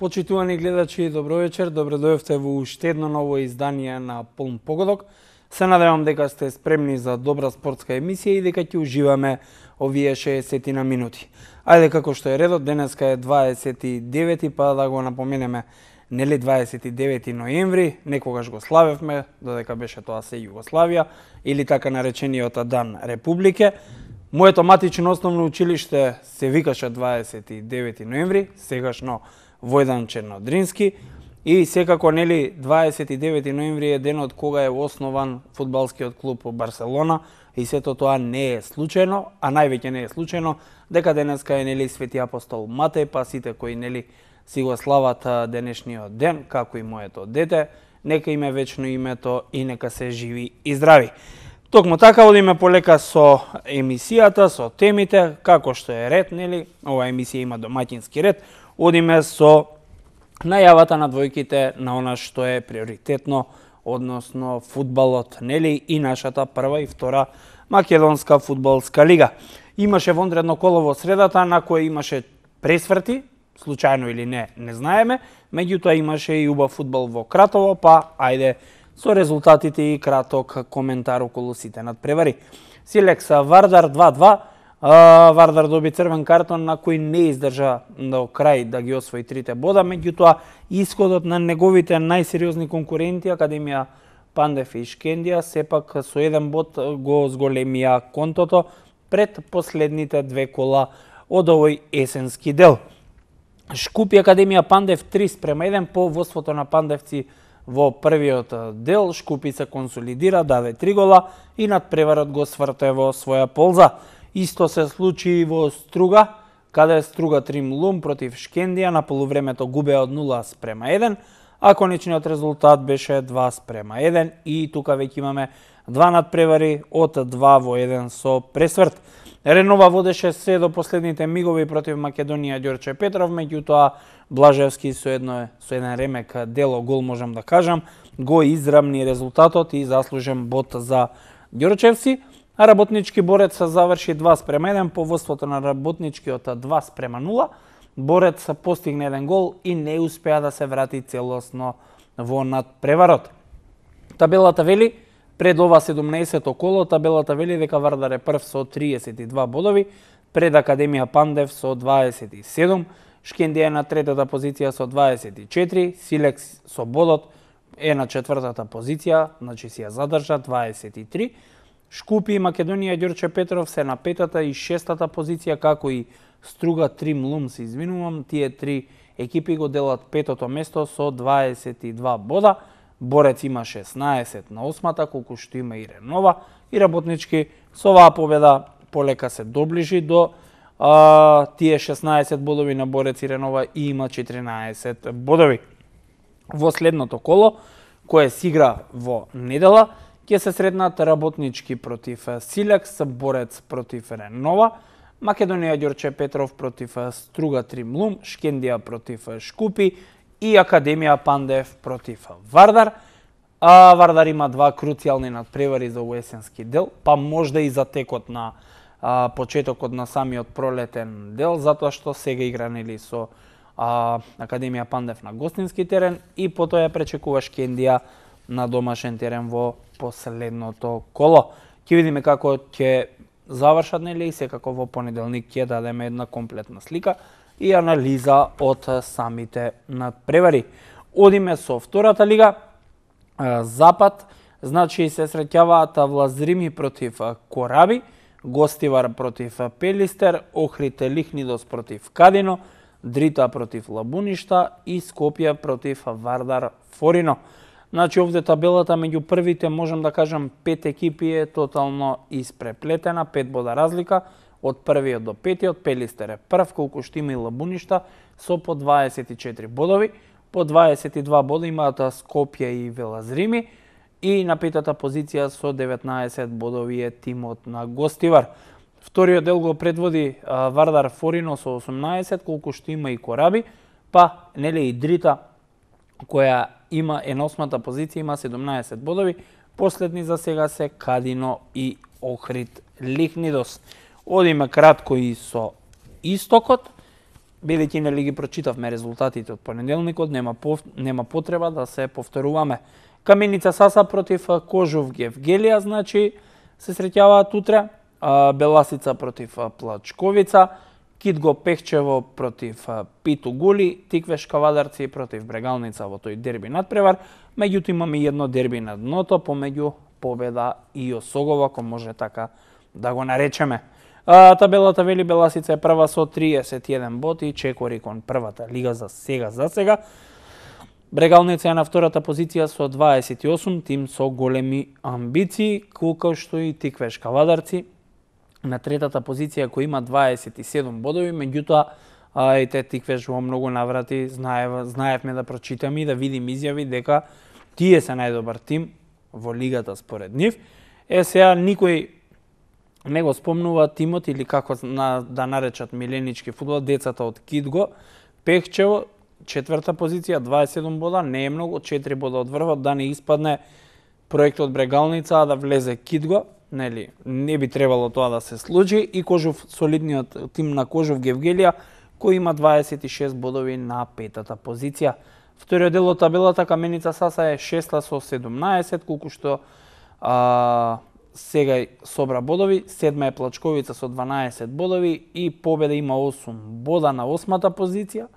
Почитувани гледачи, добро вечер, добро дојавте во уште едно ново издание на Полн погодок. Се надевам дека сте спремни за добра спортска емисија и дека ќе уживаме овие 60 на минути. Ајде, како што е редот, денеска е 29, па да го напоменеме, нели 29 ноември, некогаш го славевме, додека беше тоа се Југославија, или така наречениот Дан Републике. Моето матично основно училиште се викаше 29 ноември, сегашно Војдан Чернодрински, и секако нели 29 ноември е денот кога е основан фудбалскиот клуб Барселона, и сето тоа не е случајно, а највеќе не е случајно дека денеска е нели Свети апостол Матеј, па сите кои нели си го слават денешниот ден, како и моето дете, нека име вечно името и нека се живи и здрави. Токму така одиме полека со емисијата, со темите, како што е ред, нели? Ова емисија има домаќински ред. Одиме со најавата на двојките на она што е приоритетно, односно фудбалот, нели, и нашата прва и втора македонска фудбалска лига. Имаше вонредно коло во средата на кое имаше пресврти, случајно или не, не знаеме, меѓутоа имаше и убав фудбал во Кратово, па ајде со резултатите и краток коментар околу сите надпревари. Силекс Вардар 2-2, Вардар доби црвен картон на кој не издржа до крај да ги освои трите бода, меѓутоа исходот на неговите најсериозни конкуренти Академија Пандев и Шкендија сепак со еден бод го зголемија контото пред последните две кола од овој есенски дел. Шкупи Академија Пандев 3:1 по водството на пандевци во првиот дел. Шкупи се консолидира, даде 3 гола и надпреварот го сврте во своја полза. Исто се случи и во Струга, каде Струга Тримлум против Шкендија на полувремето губеа од 0:1, а конечниот резултат беше 2:1 и тука веќе имаме два надпревари од 2-1 со пресврт. Ренова водеше се до последните мигови против Македонија Ѓорче Петров, меѓутоа Блажевски со еден ремек дело гол, можам да кажам, го израмни резултатот и заслужен бод за Ѓорчевци. А Работнички Борец заврши 2:1 по водството на Работничкиот 2:0. Борец постигне еден гол и не успеа да се врати целосно во надпреварот. Табелата вели, пред ова 17-то коло, табелата вели дека Вардар е прв со 32 бодови, пред Академија Пандев со 27, Шкендија е на третата позиција со 24, Силекс со бодот е на четвртата позиција, значи си ја задржа 23, Шкупи и Македонија Ѓорче Петров се на петата и шестата позиција, како и Струга Тримлум, се извинувам, тие три екипи го делат петото место со 22 бода. Борец има 16 на осмата, колку што има и Ренова, и Работнички со оваа победа полека се доближи до тие 16 бодови на Борец и Ренова и има 14 бодови. Во следното коло, кое се игра во недела, ќе се среднат Работнички против Силекс, Борец против Ренова, Македонија Ѓорче Петров против Струга Тримлум, Шкендија против Шкупи и Академија Пандев против Вардар. Вардар има два круцијални надпревари за есенски дел, па можда и за текот на почетокот на самиот пролетен дел, затоа што сега игра нели со Академија Пандев на гостински терен и потоа ја пречекува Шкендија на домашен терен во последното коло. Ќе видиме како ќе завршат, нели, и секако во понеделник ќе дадеме една комплетна слика и анализа од самите надпревари. Одиме со втората лига, Запад, значи се среќаваат Влазрими против Кораби, Гостивар против Пелистер, Охрид Лихнидос против Кадино, Дрита против Лабуништа и Скопје против Вардар Форино. Значи овде табелата меѓу првите, можам да кажам, 5 екипи е тотално испреплетена, 5 бода разлика, од првиот до петиот. Пелистер е прв, колку што има и Лабуништа, со по 24 бодови. По 22 бода имаат Скопје и Велазрими и на петата позиција со 19 бодови е тимот на Гостивар. Вториот дел го предводи Вардар Форино со 18, колку што има и Кораби, па нели и Дрита, која има на осмата позиција, има 17 бодови. Последни за сега се Кадино и Охрид Лихнидос. Одиме кратко и со истокот. бидејќи нели ги прочитавме резултатите од понеделникот, нема потреба да се повторуваме. Каменица Саса против Кожув Гевгелија, значи се среќаваат утре, Беласица против Плачковица, Китго Пехчево против Питу Гули, Тиквеш Кавадарци против Брегалница во тој дерби надпревар, меѓутоа имаме едно дерби на дното помеѓу Победа и Осогово, ако може така да го наречеме. Табелата вели Беласица е прва со 31 боти, чекори кон првата лига за сега. Брегалница е на втората позиција со 28, тим со големи амбиции, колку што и Тиквеш Кавадарци на третата позиција кој има 27 бодови, меѓутоа и те Тиквеш во многу наврати знаевме да прочитаме и да видим изјави дека тие се најдобар тим во лигата според нив. Сега никој не го спомнува тимот или како да наречат миленички фудбал, децата од Китго Пехчево, четврта позиција, 27 бода, не е многу, 4 бода од врвот, да не испадне проектот Брегалница, а да влезе Китго, нели, не би требало тоа да се случи, и Кожув, солидниот тим на Кожув Гевгелија, кој има 26 бодови на петата позиција. Вториот дел од табелата Каменица Саса е шеста со 17, колку што сега собра бодови, седма е Плачковица со 12 бодови и Победа има 8 бода на 8-та позиција,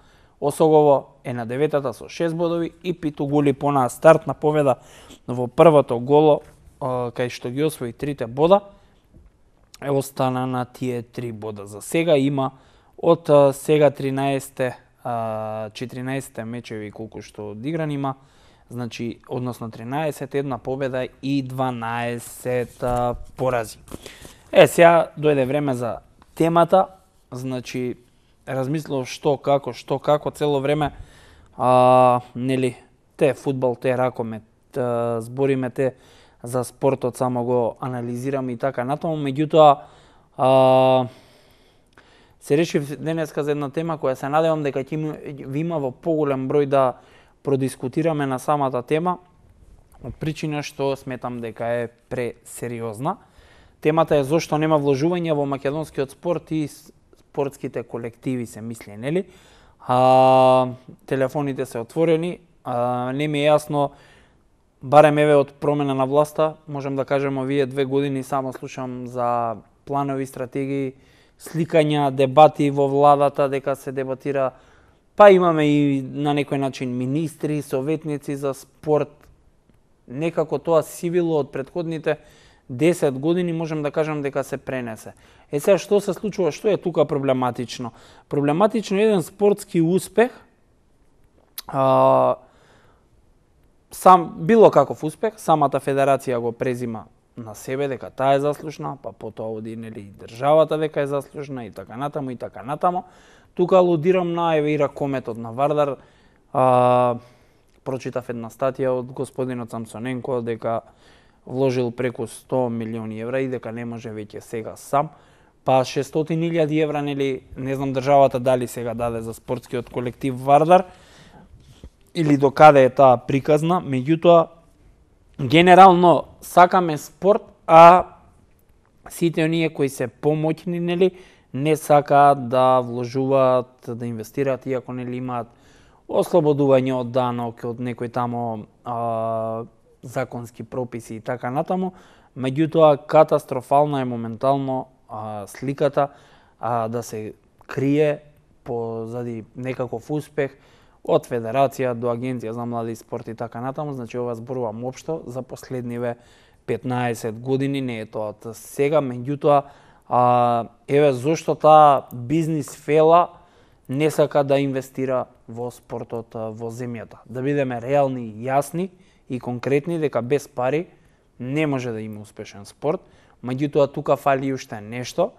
Осогово е на 9-та со 6 бодови и Питу Гули понаа стартна победа во првото голо, кај што ги освои 3 бода, остана на тие 3 бода. За сега има од сега 14 мечеви колку што одигран има, значи односно 13, една победа и 12 порази. Сега дојде време за темата, значи размислував што како цело време, нели, те фудбал, те ракомет, збориме те за спортот, само го анализираме и така натаму, меѓутоа се решив денеска за една тема која се надевам дека ќе ви има во поголем број да продискутираме на самата тема, од причина што сметам дека е пресериозна. Темата е зошто нема вложување во македонскиот спорт и спортските колективи, се мисли, нели? Телефоните се отворени, не ми е јасно, барем еве од промена на власта, можем да кажем овие 2 години само слушам за планови, стратегии, сликања, дебати во владата, дека се дебатира, па имаме и на некој начин министри, советници за спорт. Некако тоа сивило од претходните 10 години, можем да кажем дека се пренесе. Сега што се случува, што е тука проблематично? Проблематично е еден спортски успех, било каков успех, самата федерација го презима на себе дека таа е заслужна, па потоа оди, нели, државата дека е заслужна и така натаму. Тука алудирам на еве и ракометот на Вардар. Прочитав една статија од господинот Самсоненко дека вложил преку 100 милиони евра и дека не може веќе сега сам. Па 600.000 евра, нели, не знам државата дали сега даде за спортскиот колектив Вардар или до каде е таа приказна, меѓутоа генерално сакаме спорт, а сите оние кои се помоќни, нели, не сакаат да вложуваат, да инвестираат, иако, нели, имаат ослободување од данок, од некои тамо законски прописи и така натаму, меѓутоа катастрофална е моментално сликата да се крие позади некаков успех од федерација до агенција за млади спорт и така натаму. Значи ова зборувам општо за последниве 15 години, не е тоа од сега, меѓутоа еве зошто таа бизнис фела не сака да инвестира во спортот во земјата. Да бидеме реални и јасни и конкретни дека без пари не може да има успешен спорт, меѓутоа тука фали уште нешто.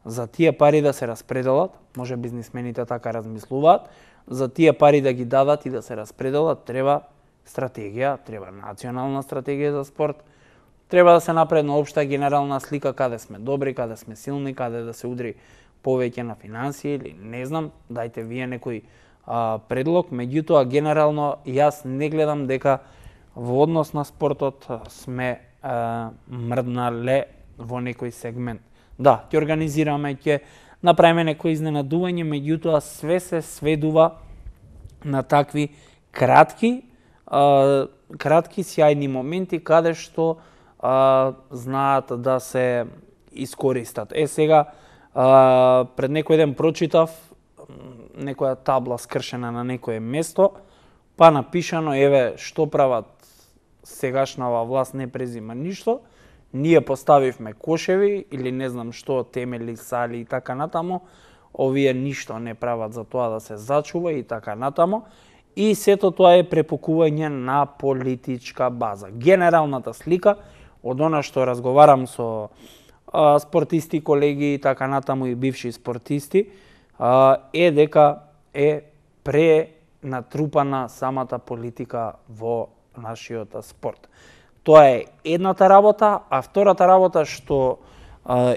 За тие пари да се распределат, може бизнисмените така размислуваат, за тие пари да ги дадат и да се распределат, треба стратегија, треба национална стратегија за спорт, треба да се направи една општа генерална слика каде сме добри, каде сме силни, каде да се удри повеќе на финансии или не знам, дајте вие некој предлог, меѓутоа генерално јас не гледам дека во однос на спортот сме мрднале во некој сегмент. Да, ќе организираме, ќе направиме некои изненадување, меѓутоа све се сведува на такви кратки сјајни моменти каде што знаат да се искористат. Сега пред некој ден прочитав некоја табла скршена на некое место, па напишано еве што прават сегашнава власт, не презима ништо, ние поставивме кошеви или не знам што, темели, сали и така натаму, овие ништо не прават за тоа да се зачува и така натаму. И сето тоа е препукување на политичка база. Генералната слика од она што разговарам со спортисти, колеги и така натаму и бивши спортисти, е дека е пренатрупана самата политика во нашиот спорт. Тоа е едната работа, а втората работа што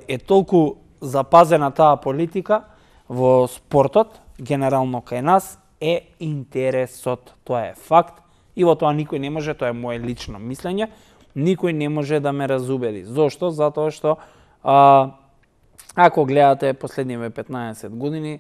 е толку запазена таа политика во спортот, генерално кај нас, е интересот. Тоа е факт и во тоа никој не може, тоа е моje лично мислење, никој не може да ме разубеди. Зошто? Затоа што ако гледате последниве 15 години,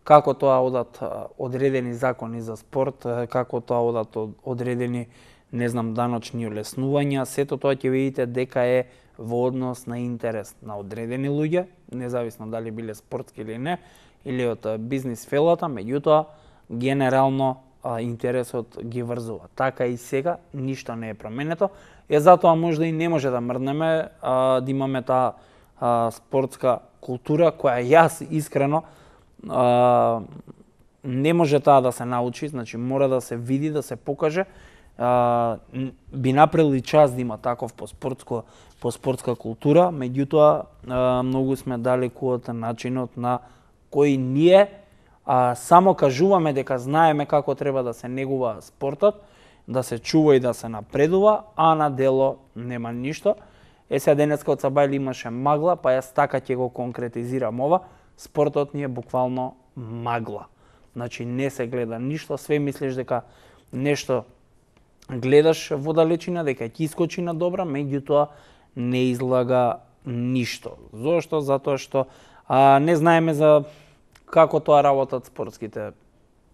како тоа одат одредени закони за спорт, како тоа одат одредени, не знам, даночни улеснувања, сето тоа ќе видите дека е во однос на интерес на одредени луѓе, независно дали биле спортски или не, или од бизнис фелата, меѓутоа генерално интересот ги врзува. Така и сега ништо не е променето. Затоа можда и не може да мрднеме да имаме таа спортска култура која јас искрено не може таа да се научи, значи мора да се види, да се покаже. Би направили час да има таков по спортска култура, меѓутоа многу сме далеку од начинот на кој ние само кажуваме дека знаеме како треба да се негува спортот, да се чува и да се напредува, а на дело нема ништо. Сега денеска од Сабајле имаше магла, па јас така ќе го конкретизирам ова. Спортот ни е буквално магла. Значи не се гледа ништо, све мислиш дека нешто гледаш во далечина, дека ќе искочи на добра, меѓутоа не излага ништо. Зошто? Затоа што не знаеме за како тоа работат спортските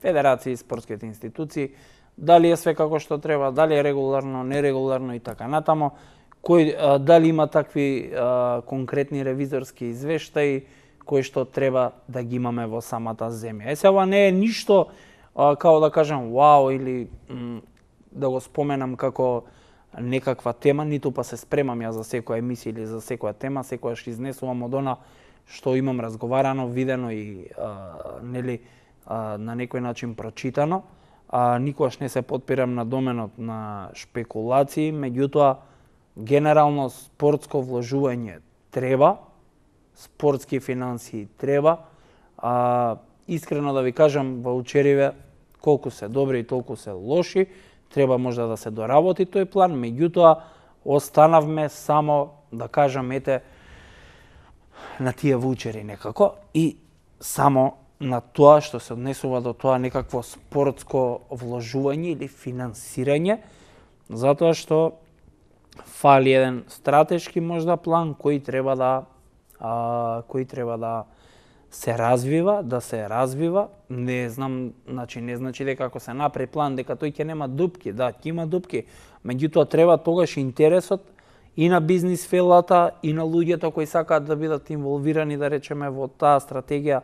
федерации, спортските институции, дали е све како што треба, дали е регуларно, нерегуларно и така натаму, дали има такви конкретни ревизорски извештаи кои што треба да ги имаме во самата земја. Сега ова не е ништо како да кажам вау или да го споменам како некаква тема, ниту па се спремам ја за секоја емисија или за секоја тема, секојаш изнесувам од она што имам разговарано, видено и на некој начин прочитано. Никогаш не се потпирам на доменот на шпекулации, меѓутоа генерално спортско вложување треба, спортски финансии треба. Искрено да ви кажам, ваучериве колку се добри и толку се лоши, треба можда да се доработи тој план, меѓутоа останавме само, да кажам, ете, на тие ваучери некако и само на тоа што се однесува до тоа некакво спортско вложување или финансирање, затоа што фали еден стратешки можда план кој треба да се развива, не знам, не значи дека ако се направи план дека тој ќе нема дупки, да, ќе има дупки, меѓутоа треба тогаш интересот и на бизнис фелата и на луѓето кои сакаат да бидат инволвирани, да речеме, во таа стратегија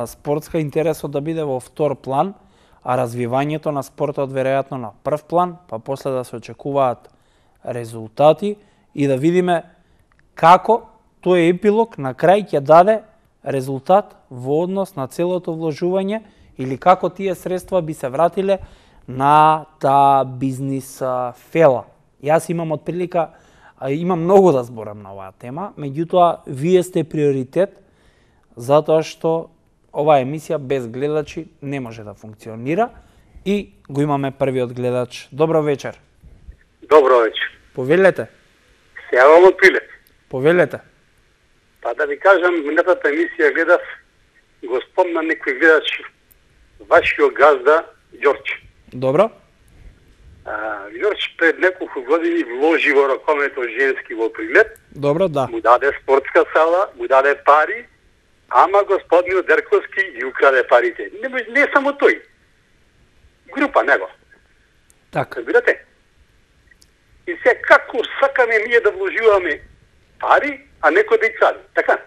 спортска, интересот да биде во втор план, а развивањето на спортот веројатно на прв план, па после да се очекуваат резултати и да видиме како тој епилог на крај ќе даде резултат во однос на целото вложување или како тие средства би се вратиле на таа бизнис фела. Јас имам отприлика, имам многу да зборам на оваа тема, меѓутоа вие сте приоритет затоа што оваа емисија без гледачи не може да функционира и го имаме првиот гледач. Добро вечер. Добро вечер. Повелете. Се јавам од Пилет. Повелете. Па да ви кажам, минатата емисија гледав, го спомна некој гледач, вашиот газда Ѓорче. Добро. Ѓорче пред неколку години вложи во ракомето женски во Прилеп. Добро, да. Му даде спортска сала, му даде пари ама господинот Дерковски ги украде парите. Не само тој. Група него. Така. Разбирате? И се како сакаме ние да вложуваме пари, а некој да ги краде. Така?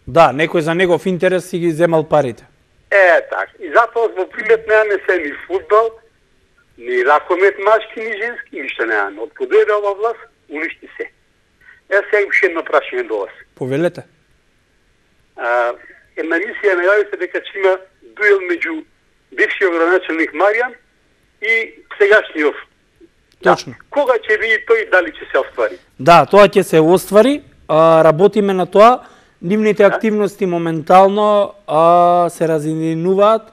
Да, некој за негов интерес си ги земал парите. Така. И затоа во примет немаме се ни фудбал, ни ракомет машки, ни женски, ништо немаме. Од кога дојде ова власт, уништи се. Сега уште едно прашање до вас. Повелете. Една емисија најавите дека ќе има дуел меѓу бившиот градоначалник Маријан и сегашниот. Точно. Да. Кога ќе види тој, дали ќе се оствари? Да, тоа ќе се оствари. Работиме на тоа. Нивните активности моментално се разединуваат.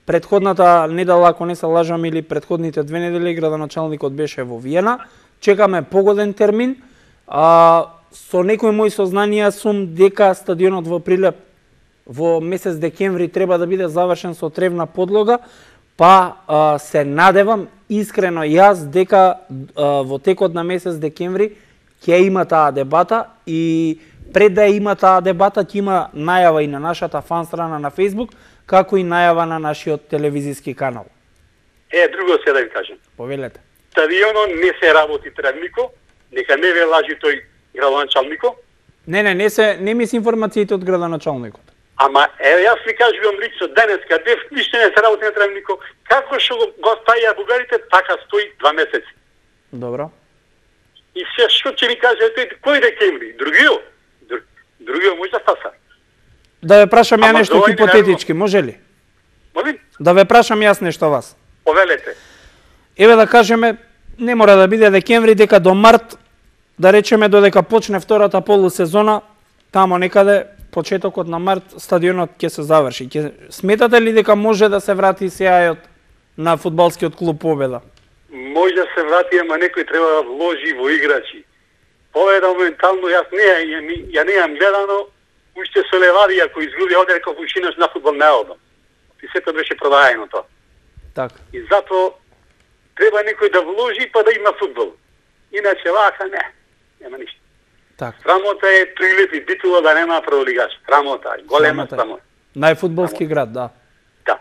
Предходната недела, ако не се лажам, или предходните 2 недели, градоначалникот беше во Виена. Чекаме погоден термин. Со некои мои сознанија сум дека стадионот во Прилеп во месец декември треба да биде завршен со тревна подлога, па се надевам искрено јас дека во текот на месец декември ќе има таа дебата и пред да има таа дебата ќе има најава и на нашата фан страна на Facebook, како и најава на нашиот телевизиски канал. Друго се да ви кажем. Повелете. Стадионот не се работи тревнико, нека не ве лажи тој градоначалникот. Не ми се информациите од градоначалникот. Ама јас ви кажувам лично денеска, ништо не се работи на тревнико, како што го ставија бугарите, така стои 2 месеци. Добро. И се што ќе ми каже тој, кој декември? Другиот може да стаса. Да ве прашам ја нешто хипотетички, може ли? Молим? Да ве прашам јас нешто вас. Повелете. Еве да кажеме, не мора да биде декември, дека до март, да речеме додека почне втората полусезона, тамо некаде, почетокот на март, стадионот ќе се заврши. Сметате ли дека може да се врати сеајот на фудбалскиот клуб Победа? Може да се врати, ама некој треба да вложи во играчи. Победа моментално, јас ја не јам гледано, уште со Левадија кој изгуби овде како ушинаш на фудбал не одам. И сето беше продаено тоа. Така. И затоа треба некој да вложи па да има фудбал. Иначе вака нема ништо. Така. Срамота е Прилеп и Битола да нема прволигаш. Срамота е, голема срамота. Најфудбалски град, да. Да.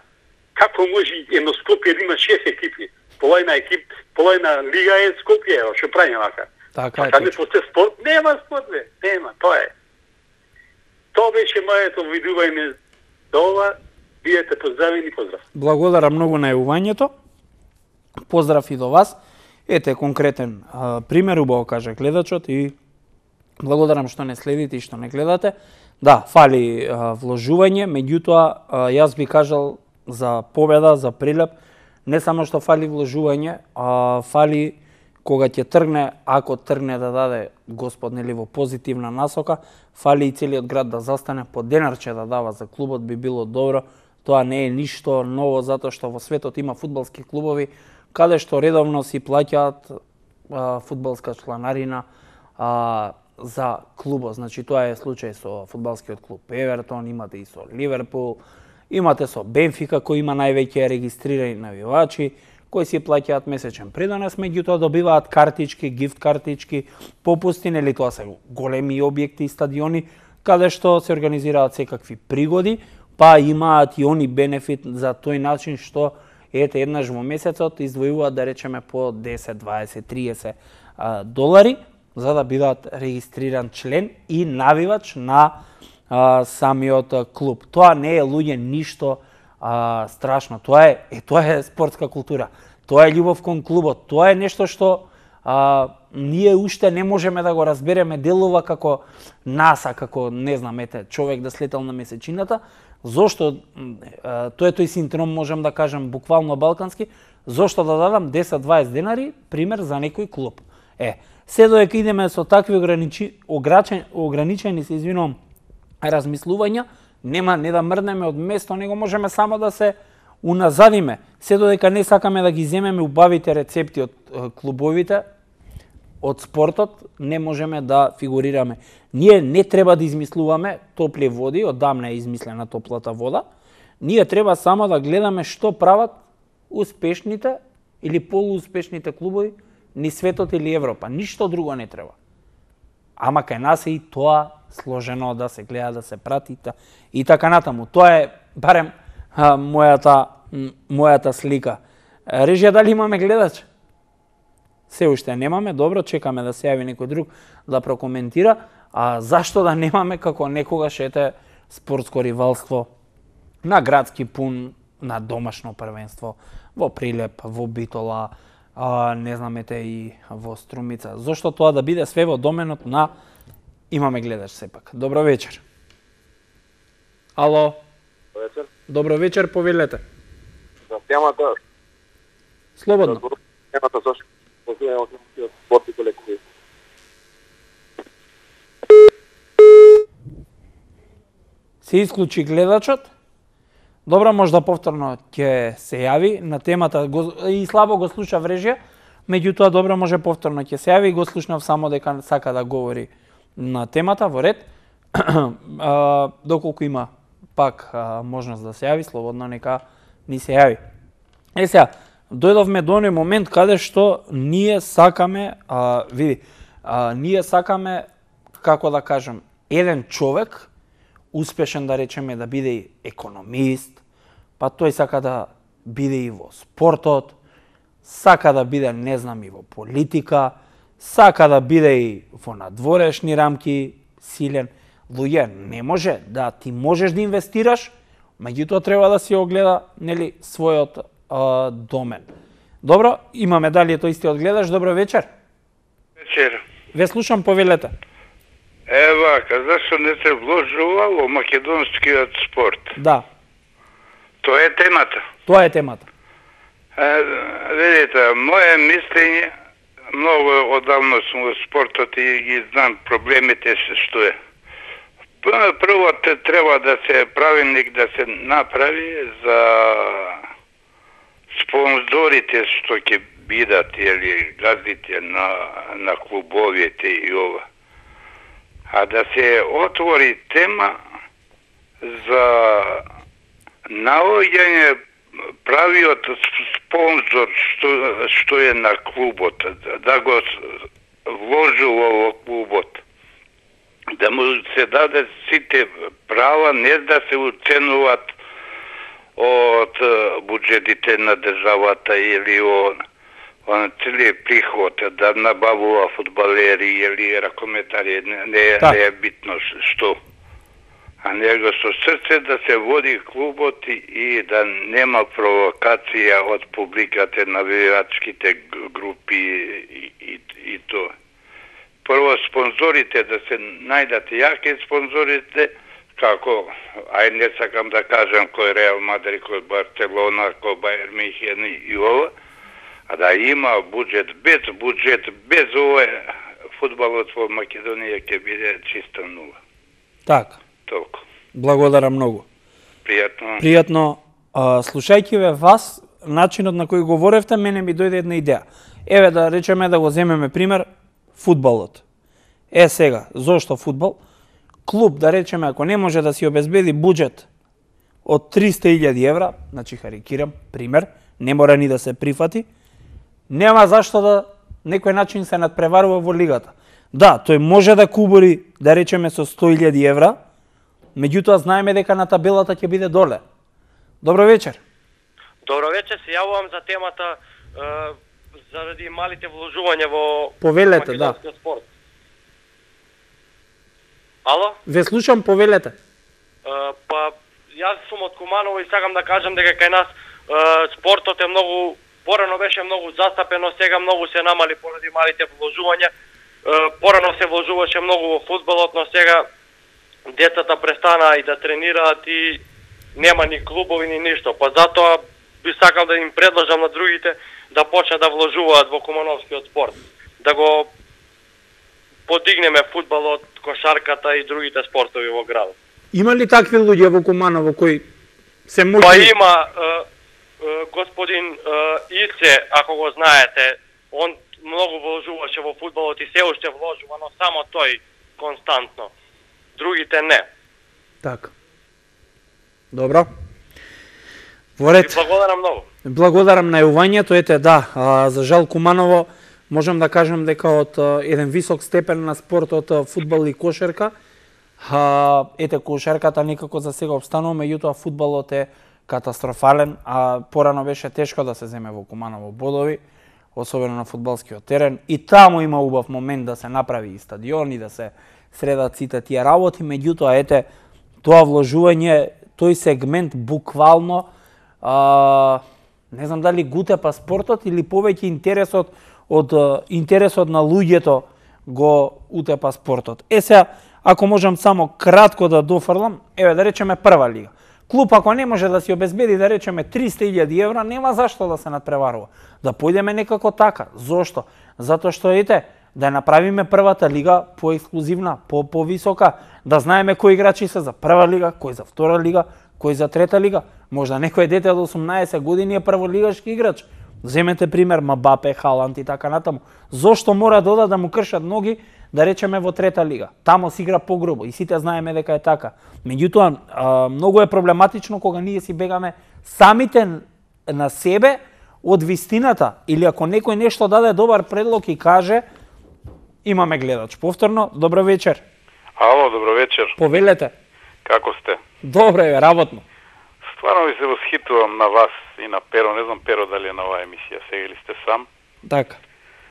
Како може едно Скопје да има 6 екипи? Половина лига е Скопје, што прави вака. Така е. Кога не постои спорт, нема спорт, нема, тоа е. Тоа беше моето видување до ова. Бидете поздравени, поздрав. Благодарам многу на јавувањето. Поздрав и до вас. Ете конкретен пример, убаво кажа гледачот и благодарам што не следите и што не гледате. Да, фали вложување, меѓутоа јас би кажал за Победа, за Прилеп, не само што фали вложување, фали кога ќе тргне, ако тргне да даде Господ нели во позитивна насока, фали и целиот град да застане, по денарче да дава за клубот би било добро. Тоа не е ништо ново затоа што во светот има фудбалски клубови каде што редовно си плаќаат фудбалска чланарина за клубот. Значи тоа е случај со фудбалскиот клуб Евертон, имате и со Ливерпул, имате со Бенфика кој има највеќе регистрирани навивачи, кои си плаќаат месечен придонес, меѓутоа добиваат картички, гифт картички, попусти, нели тоа се големи објекти и стадиони каде што се организираат секакви пригоди, па имаат и они бенефит за тој начин што ете еднаш во месецот издвојуваат да речеме по 10, 20, 30 долари за да бидат регистриран член и навивач на самиот клуб. Тоа не е луѓе ништо страшно. Тоа е спортска култура. Тоа е љубов кон клубот. Тоа е нешто што ние уште не можеме да го разбереме, делува како НАСА, како не знам, човек да слетел на месечината. Зошто тоа е тој синдром, можам да кажам буквално балкански, зошто да дадам 10-20 денари пример за некој клуб. Се додека идеме со такви ограничени се извинувам размислувања, не да мрднеме од место, него можеме само да се уназадиме. Се додека не сакаме да ги земеме убавите рецепти од клубовите, од спортот, не можеме да фигурираме. Ние не треба да измислуваме топли води, одамна е измислена топлата вода. Ние треба само да гледаме што прават успешните или полууспешните клубови ни светот или Европа. Ништо друго не треба. ама кај нас е и тоа сложено да се гледа, да се прати и така натаму. Тоа е барем мојата слика. Режија, дали имаме гледач? Се уште немаме, добро, чекаме да се јави некој друг да прокоментира. А зашто да немаме како некогаш ете спортско ривалство на градски пун, на домашно првенство, во Прилеп, во Битола, не знам ете и во Струмица. Зошто тоа да биде све во доменот на имаме гледач сепак. Добро вечер. Ало. Вечер. Добро вечер, повелете. За темата. Слободно. Темата зашто позиваме спорт и колекции. Се исклучи гледачот. Добро, можда повторно ќе се јави на темата и слабо го слуша Режија, меѓутоа добро може повторно ќе се јави и го слушнав само дека сака да говори на темата во ред. Доколку има пак можност да се јави, слободно нека ни се јави. Сега, дојдовме до оној момент каде што ние сакаме, ние сакаме, како да кажам, еден човек успешен, да речеме, да биде и економист, па тој сака да биде и во спортот, сака да биде, не знам, и во политика, сака да биде и во надворешни рамки, силен. Луѓе, не може да ти можеш да инвестираш, меѓутоа треба да си огледа, нели, својот домен. Добро, имаме дали тој истиот гледач. Добро вечер. Вечер. Ве слушам, повелете. Вака, зашто не се вложува во македонскиот спорт? Да. Тоа е темата. Тоа е темата. Видите, моје мислење, многу одавно сум во спортот и ги знам проблемите што е. Прво треба да се правилник да се направи за спонзорите што ќе бидат или газдите на клубовите и ова. А да се отвори тема за наоѓање правиот спонзор што е на клубот, да го вложува во клубот, да му се даде сите права, не да се уценуват од буџетите на државата или он целиот приход, да набавува фудбалери или ракометари, не е битно што. А него со срце да се води клубот и да нема провокација од публиката, навивачките групи и тоа. Прво спонзорите да се најдат јаки спонзорите, како, не сакам да кажам кој Реал Мадрид, кој Барселона, кој Бајер Михен и ова, а да има буџет, без ова фудбалот во Македонија ќе биде чиста нула. Така. Толку. Благодарам многу. Пријатно. Пријатно. Слушајќи ве вас, начинот на кој говоревте, мене ми дојде една идеја. Еве да речеме да го земеме пример фудбалот. Сега, зошто фудбал? Клуб, да речеме, ако не може да си обезбеди буџет од 300.000 евра, значи карикирам, пример, не мора ни да се прифати, нема зашто да некој начин се надпреварува во лигата. Да, тој може да кубори, да речеме, со 100.000 евра, меѓутоа знаеме дека на табелата ќе биде доле. Добро вечер. Добро вечер, се јавувам за темата заради малите вложувања во повелете, да. Спорт. Ало? Ве слушам, повелете. Па, јас сум од Куманово и сакам да кажам дека кај нас спортот е многу, порано беше многу застапено, сега многу се намали поради малите вложувања. Порано се вложуваше многу во фудбалот, но сега децата престанаа и да тренираат и нема ни клубови ни ништо. Па затоа би сакал да им предложам на другите да почнат да вложуваат во кумановскиот спорт. Да го подигнеме фудбалот, кошарката и другите спортови во градот. Има ли такви луѓе во Куманово кои се можни? Па има господин Ице, ако го знаете, он многу вложуваше во фудбалот и се уште вложува, но само тој константно. Другите не. Така. Добро. Во ред. И благодарам многу. Благодарам на јувањето, ете да, за жал Куманово можам да кажем дека од еден висок степен на спортот фудбал и кошарка, ете кошарката некако за сега обстанува, меѓутоа фудбалот е катастрофален, а порано беше тешко да се земе во Куманово бодови, особено на фудбалскиот терен. И таму има убав момент да се направи и стадион и да се средат сите тие работи, меѓутоа ете тоа вложување, тој сегмент буквално не знам дали гутепа спортот или повеќе интересот на луѓето го утепа спортот. Сега, ако можам само кратко да дофрлам, еве да речеме прва лига. Клуб ако не може да си обезбеди да речеме 300.000 евра, нема зашто да се надпреварува. Да појдеме некако така. Зошто? Затоа што ете, да направиме првата лига поексклузивна, повисока, да знаеме кои играчи се за прва лига, кои за втора лига, кој за трета лига. Можда некој дете од 18 години е прволигашки играч. Земете пример Мбапе, Халанд и така натаму. Зошто мора да му кршат ноги да речеме во трета лига? Тамо си игра погрубо и сите знаеме дека е така. Меѓутоа многу е проблематично кога ние си бегаме самите на себе од вистината, или ако некој нешто даде добар предлог и каже, имаме гледач. Повторно, добро вечер. Ало, добро вечер. Повелете. Како сте? Добре, работно. Стварно ви се восхитувам на вас и на Перо. Не знам Перо дали е на оваа емисија сега или сте сам. Така.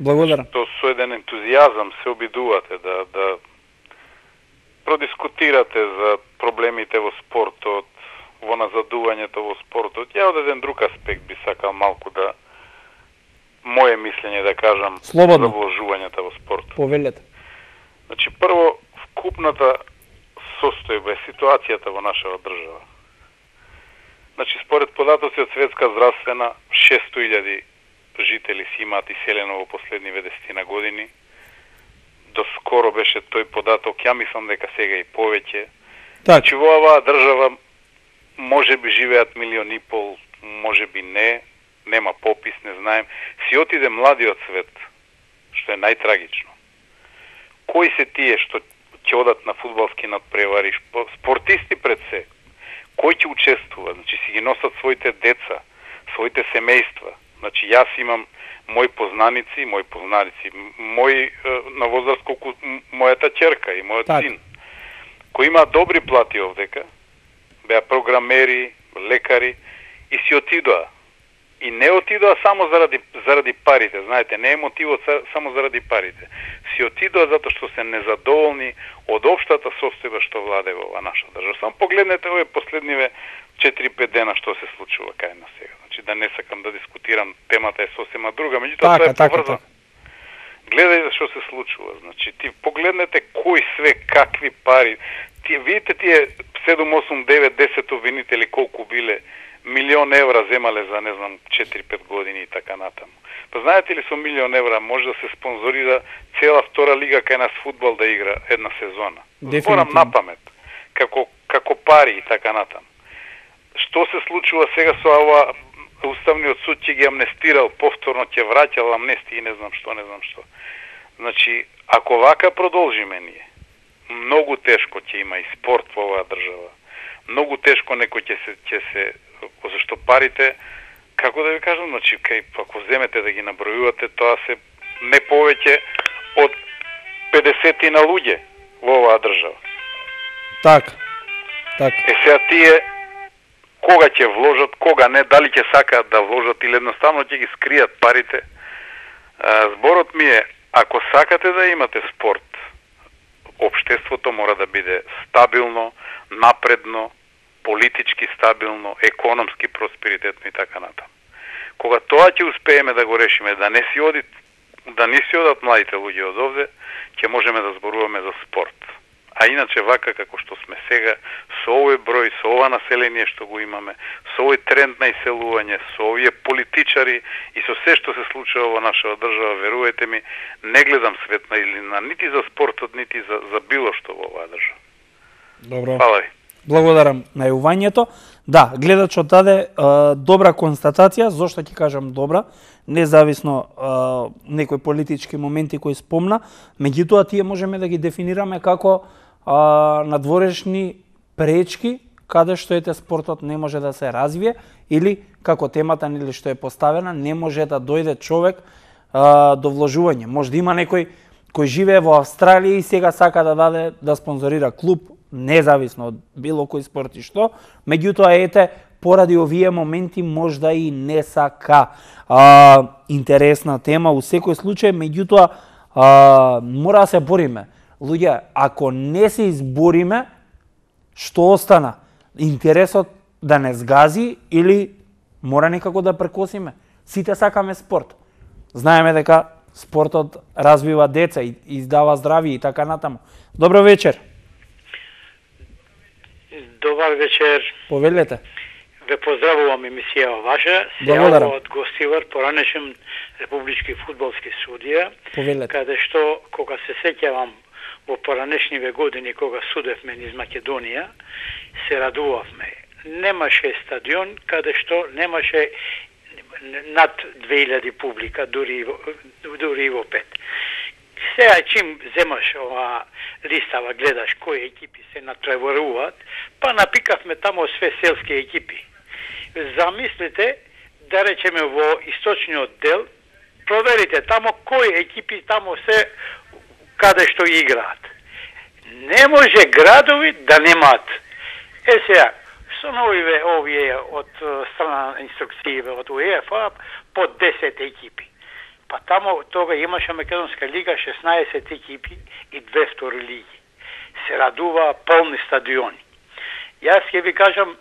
Благодарам. Што со еден ентузијазам се обидувате да продискутирате за проблемите во спортот, во назадувањето во спортот. Ја од еден друг аспект би сакал малку да моје мислење да кажам Слободно. за вложувањето во спортот. Повелете. Значи прво вкупната состојба е ситуацијата во нашава држава. Значи според податоци од Светска здравствена 600.000 жители си имаат иселено во последниве 10 години. До скоро беше тој податок, ја мислам дека сега и повеќе. Значи во оваа држава може би живеат 1,5 милиони, може би не, нема попис, не знаем. Си отиде младиот свет, што е најтрагично. Кои се тие што ќе одат на фудбалски надпревари, спортисти пред се? Кој ќе учествува? Значи си ги носат своите деца, своите семејства. Значи јас имам мои познаници, мој на возраст колку мојата ќерка и мојот син, кои имаат добри плати овдека, беа програмери, лекари и си отидоа. И не отидоа само заради парите, знаете, не е мотивот само заради парите. Си отидоа затоа што се незадоволни од општата состојба што владе во оваа наша држава. Само погледнете овие последниве 4-5 дена што се случува кај нас сега. Значи да не сакам да дискутирам, темата е сосема друга, меѓутоа тоа е поврзано. Гледај што се случува. Значи ти погледнете кои све, какви пари. Видите тие 7, 8, 9, 10 обвинители колку биле, 1 милион евра земале за, не знам, 4-5 години и така натаму. Па знаете ли, со 1 милион евра може да се спонзорира цела втора лига кај нас фудбал да игра една сезона. Зборам на памет, како пари и така натаму. Што се случува сега со ова, Уставниот суд ќе ги амнестирал, повторно ќе враќал амнестии и не знам што. Значи, ако вака продолжиме ние, многу тешко ќе има и спорт во оваа држава. Многу тешко некој ќе се зашто парите, како да ви кажам, значи ако земете да ги набројувате, тоа се не повеќе од 50 на луѓе во оваа држава. Така. Сега тие кога ќе вложат, кога не, дали ќе сакаат да вложат или едноставно ќе ги скријат парите. Зборот ми е, ако сакате да имате спорт, општеството мора да биде стабилно, напредно, политички стабилно, економски просперитетно и така натаму. Кога тоа ќе успееме да го решиме, да не си одат младите луѓе од овде, ќе можеме да зборуваме за спорт. А иначе вака како што сме сега, со овој број, со ова население што го имаме, со овој тренд на иселување, со овие политичари и со се што се случува во нашава држава, верувајте ми, не гледам светна илина нити за спортот, нити за било што во оваа држава. Добро. Фала ви. Благодарам на јавувањето. Да, гледачот даде добра констатација, зошто ќе кажам добра, независно некои политички моменти кои спомна, меѓутоа тие можеме да ги дефинираме како надворешни пречки каде што спортот не може да се развие или како темата нели што е поставена, не може да дојде човек до вложување. Може да има некој кој живее во Австралија и сега сака да даде да спонзорира клуб, независно од било кој спорт и што, меѓутоа ете, поради овие моменти можда и не сака. Интересна тема у секој случај, меѓутоа мора да се бориме. Луѓе, ако не се избориме, што остана? Интересот да не сгази или мора некако да прекосиме? Сите сакаме спорт. Знаеме дека спортот развива деца и издава здравје и така натаму. Добро вечер. Добар вечер. Повелете. Ве поздравувам емисија ваша. Благодарам. Од гостивар, поранешен републички фудбалски судија. Повелете. Каде што, кога се сеќавам во поранешниве години, кога судевме низ Македонија, се радувавме. Немаше стадион каде што немаше над 2000 публика, дури и во 5. Сега чим земаш ова листава, гледаш кои екипи се натпреваруваат, па напикавме тамо све селски екипи. Замислите, да речеме во источниот дел, проверите тамо кои екипи тамо се каде што играат. Не може градови да немаат. Сега, со овие од страна инструкције од УЕФА по 10 екипи. Па тамо тога имаше Македонска лига 16 екипи и 2 втори лиги. Се радува полни стадиони. Јас ќе ви кажам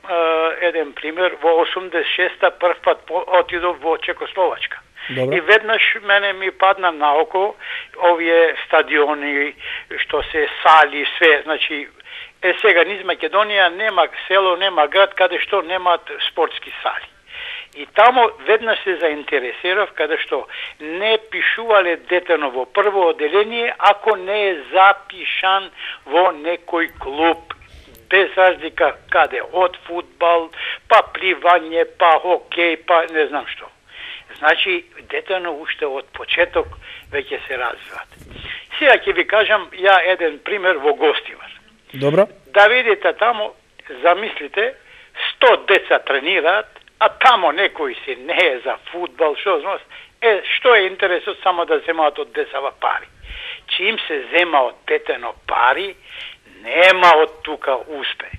еден пример. Во 86-та прв пат отидов во Чекословачка. Добре. И веднаш мене ми падна на око овие стадиони, што се сали, све, значи сега низ Македонија нема село, нема град каде што немаат спортски сали. И тамо веднаш се заинтересирав каде што не пишувале детено во прво одделение ако не е запишан во некој клуб, без разлика каде, од фудбал, па пливање, па хокеј, па не знам што. Значи, детено уште од почеток веќе се развиват. Сега ќе ви кажам ја еден пример во Гостивар. Добро. Да видите тамо, замислите, 100 деца тренираат, а тамо некој си не е за фудбал, што е интересот само да земаат од децава пари. Чим се зема од детено пари, нема од тука успех.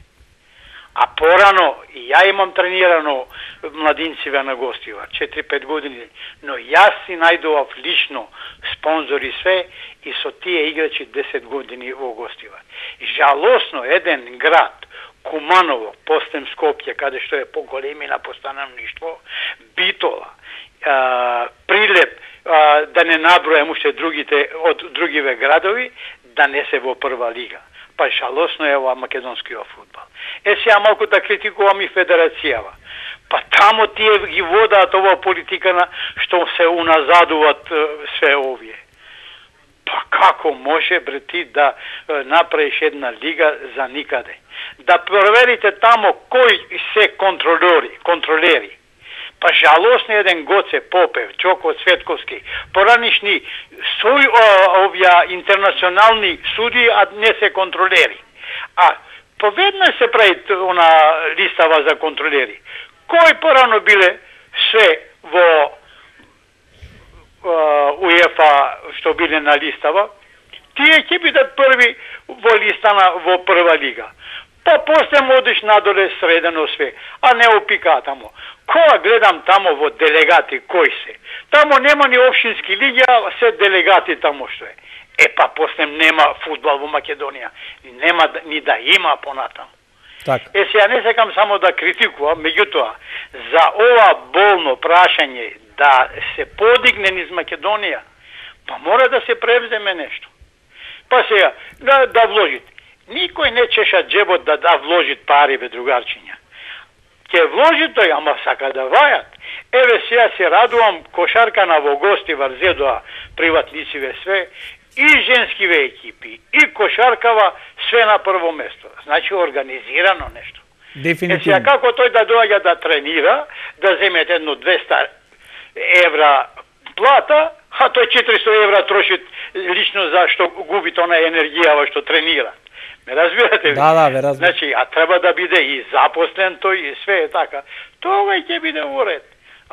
А порано, и ја имам тренирано младинциве на Гостивар, 4-5 години, но јас си најдував лично спонзори све и со тие играчи 10 години во Гостивар. Жалосно, еден град, Куманово, постем Скопје, каде што е поголемина по становништво, Битола, Прилеп, да не набројам уште другите од другиве градови, да не се во прва лига. Па жалосно е ова македонскиот фудбал. Сега малку да критикувам и федерацијава. Па тамо тие ги водаат ова политика на што се уназадуваат све овие. Па како може бре ти да направиш една лига за никаде? Да проверите тамо кои се контролери. Па жалосно еден Гоце Попев, Чоко Цветковски, поранишни овија интернационални суди, а не се контролери. А поведнаш се прави она листава за контролери. Кои порано биле се во УЕФА што биле на листава, тие ќе бидат први во листана во прва лига. Па после одиш надоле средено све, а не опика тамо. Кога гледам тамо во делегати кои се, тамо нема ни општински лиги, а се делегати тамо што е. Па после нема фудбал во Македонија, нема ни да има понатаму. Така. Сега не сакам само да критикувам, меѓутоа, за ова болно прашање да се подигне низ Македонија, па мора да се превземе нешто. Па сега, да вложите. Никој не чеша джебот да вложит пари, бе другарчиња. Ке вложи тој, ама сака да вајат. Еве сега се радувам, кошарка на во Гостивар зедоа приватнициве све, и женскиве екипи, и кошаркава све на прво место. Значи организирано нешто. Дефинитивно. Сега како тој да доаѓа да тренира, да земе едно 200 евра плата, а тој 400 евра троши лично за што губи тона енергија што тренира. Ме разбирате ли? Да, ве разбирам. Значи, а треба да биде и запослен тој и све е така. Тоа ќе биде во ред.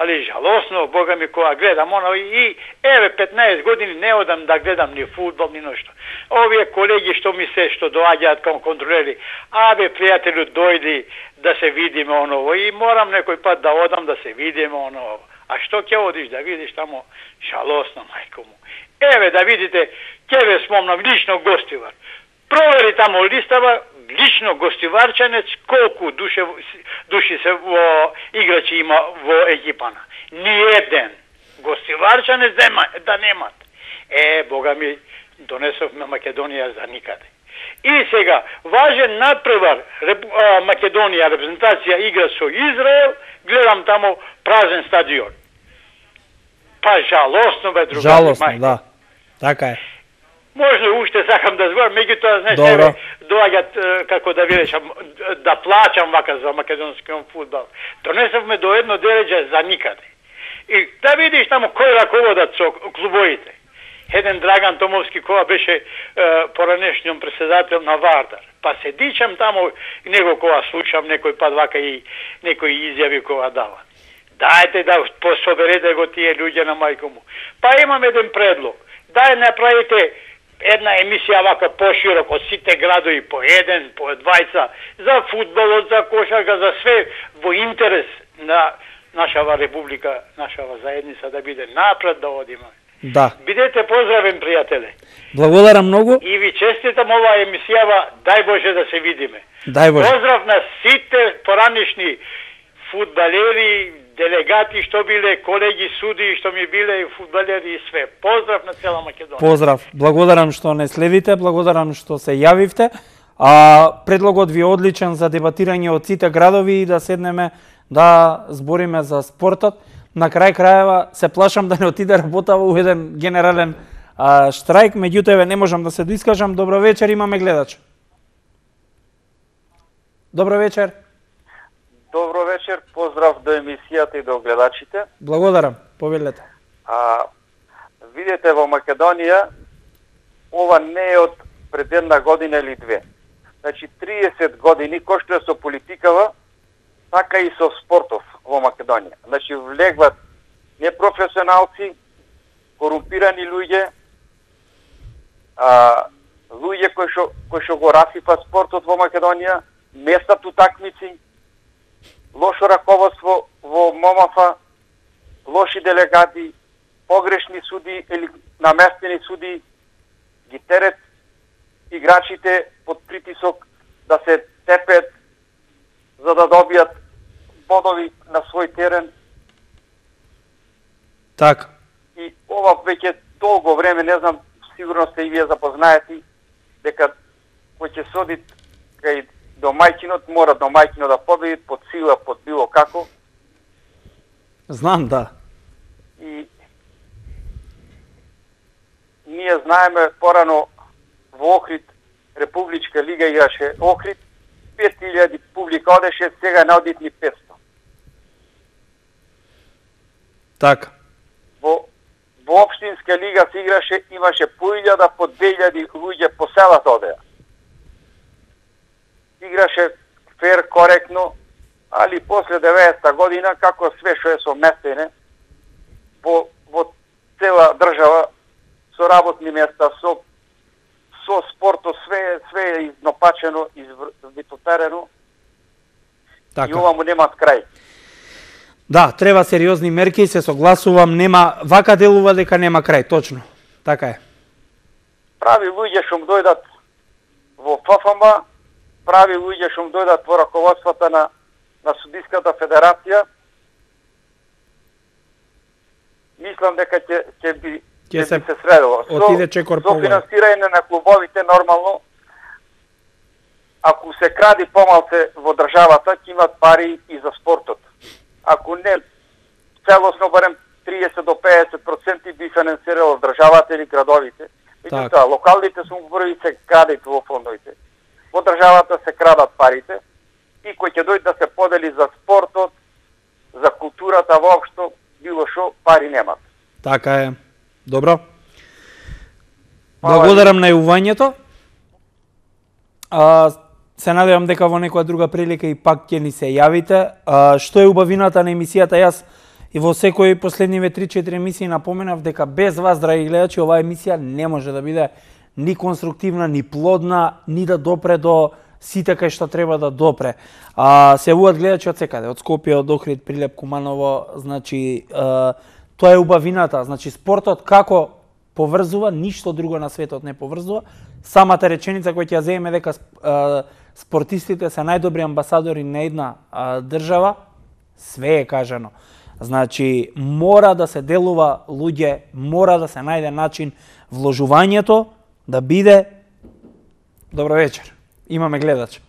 али жалосно, Бога ми, кога гледам оно и еве 15 години не одам да гледам ни фудбал, ни ношто. Овие колеги што доаѓаат кон контролери, пријателю, дојди да се видиме оново и морам некој пат да одам да се видиме оново. А што ќе одиш да видиш тамо? Жалосно, мајко му. Еве да видите, ќе ве спомнам лично Гостивар. Провери тамо листава, лично Гостиварчанец, колку души се во играчи има во екипана. Ниеден Гостиварчанец да немат. Бога ми, донесовме Македонија за никаде. И сега, важен надпревар, Македонија, репрезентација игра со Израел, гледам тамо празен стадион. Па жалосно бе, другари. Жалосно, да. Така е. Можно уште сакам да зборам, меѓутоа, знаеш, доаѓат, како да ви речам, да плачам вака за македонскиот фудбал. Донесовме до едно дереđe за никаде. И да видиш тамо кој раководат со клубовите. Еден Драган Томовски, која беше поранешниот председател на Вардар. Па се дичам тамо, него кога слушам некој пат вака и некои изјави кога дават. Дајте да пособерете го тие луѓе на мајко му. Па имам еден предлог. Дај направите една емисија вака поширок од сите градови по еден, по двајца, за фудбалот, за кошарка, за све во интерес на нашава република, нашава заедница да биде напред да одиме. Да. Бидете поздравен, пријателе. Благодарам многу. И ви честитам оваа емисијава, дај Боже да се видиме. Дај Боже. Поздрав на сите поранешни фудбалери, делегати што биле, колеги суди што ми биле и фудбалери и све. Поздрав на цела Македонија. Поздрав. Благодарам што не следите, благодарам што се јавивте. Предлогот ви е одличен за дебатирање од сите градови и да седнеме да збориме за спортот. На крај крајева се плашам да не отиде работава у еден генерален штрајк, меѓутоа не можам да се доискажам. Добро вечер, имаме гледач. Добро вечер. Добро вечер, поздрав до емисијата и до гледачите. Благодарам, повелете. Видете, во Македонија, ова не е од пред една година или две. Значи, 30 години, кој што е со политикава, така и со спортов во Македонија. Значи, влегват непрофесионалци, корумпирани луѓе, луѓе кои што го расипат спортот во Македонија, местат утакмици, лошо раководство во МОМАФ, лоши делегати, погрешни суди или наместени суди, ги терет играчите под притисок да се тепет за да добијат бодови на свој терен. Така. И ова веќе долго време, не знам, сигурно сте и вие запознаети, дека кој ќе соди кај домајчинот, мора домајчинот да победи под сила, под било како. Знам, да. И ние знаеме порано во Охрид, Републичка лига играше Охрид, 5000 публика одеше, сега не одит ни 500. Така. Во општинска лига се играше, имаше по 1000, по 2000 луѓе по селата одеа. Играше фер, коректно, али после 90-та година, како све што е совместене, во цела држава, со работни места, со спортот, све е изнопачено, извитотерено, и ова му немат крај. Да, треба сериозни мерки, се согласувам, нема, вака делува дека нема крај, точно. Така е. Прави луѓе што му дојдат во ФФМ, прави луѓе што му дојдат во раководството на Судиската федерација. Мислам дека ќе би се средило. Со финансирање на клубовите, нормално, ако се кради помалце во државата, ќе имат пари и за спортот. Ако не, целосно барем 30 до 50% би финансирало државата или градовите. Меѓутоа, локалните самоуправи се крадат во фондовите. Во државата се крадат парите и кој ќе дојде да се подели за спортот, за културата воопшто, било шо, пари немат. Така е. Добро. Благодарам на јавувањето. Се надевам дека во некоја друга прилика и пак ќе ни се јавите. Што е убавината на емисијата? Јас И во секој последниве 3-4 емисии напоменав дека без вас, драги гледачи, оваа емисија не може да биде ни конструктивна, ни плодна, ни да допре до сите кај што треба да допре. Се јавуваат гледачи од секаде, од Скопје, од Охрид, Прилеп, Куманово, значи тоа е убавината, значи спортот како поврзува, ништо друго на светот не поврзува. Самата реченица која ќе ја земеме дека спортистите се најдобри амбасадори на една држава, све е кажано. Значи, мора да се делува луѓе, мора да се најде начин вложувањето да биде... Добро вечер, имаме гледач.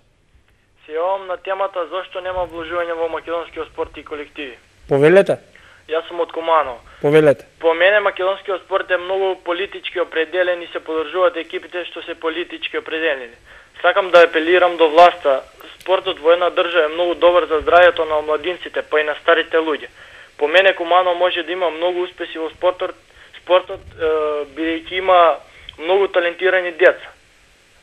Се јавам на темата зошто нема вложување во македонскиот спорт и колективи. Повелете. Јас сум од Куманово. Повелете. По мене македонскиот спорт е многу политички определен и се подржуваат екипите што се политички определени. Сакам да апелирам до власта. Спортот во една држава е многу добар за здравјето на младинците, па и на старите луѓе. По мене Куманово може да има многу успеси во спортот бидејќи има многу талентирани деца.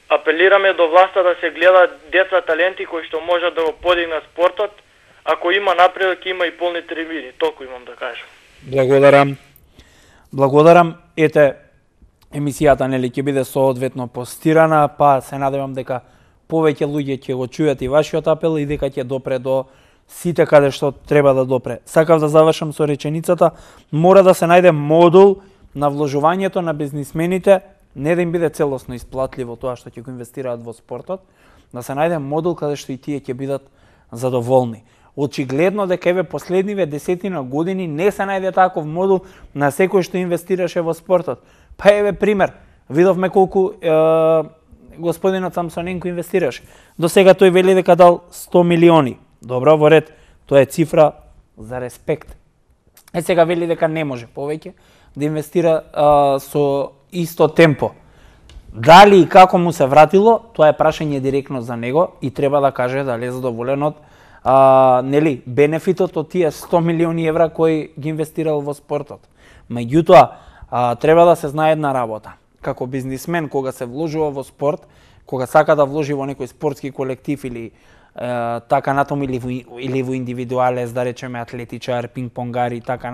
Апелираме до власта да се гледа деца таленти кои што можат да го подигнат спортот. Ако има напредок, има и полни трибини. Толку имам да кажам. Благодарам. Благодарам. Ете, емисијата нели ќе биде соодветно постирана, па се надевам дека повеќе луѓе ќе го чујат и вашиот апел и дека ќе допре до сите каде што треба да допре. Сакав да завршам со реченицата, мора да се најде модул на вложувањето на бизнисмените, не да им биде целосно исплатливо тоа што ќе го инвестираат во спортот, да се најде модул каде што и тие ќе бидат задоволни. Очигледно дека еве последниве 10 години не се најде таков модул на секој што инвестираше во спортот. Па еве пример, видовме колку господинот Самсоненко инвестираше. До сега тој вели дека дал 100 милиони. Добро, во ред, тоа е цифра за респект. Сега вели дека не може повеќе да инвестира со исто темпо. Дали и како му се вратило, тоа е прашање директно за него и треба да каже дали е задоволен од нели бенефитот од тие 100 милиони евра кои ги инвестирал во спортот. Меѓутоа, треба да се знае една работа. Како бизнисмен, кога се вложува во спорт, кога сака да вложи во некој спортски колектив или така натаму или во индивидуалес, да речеме атлетичар, пинг-понгар и така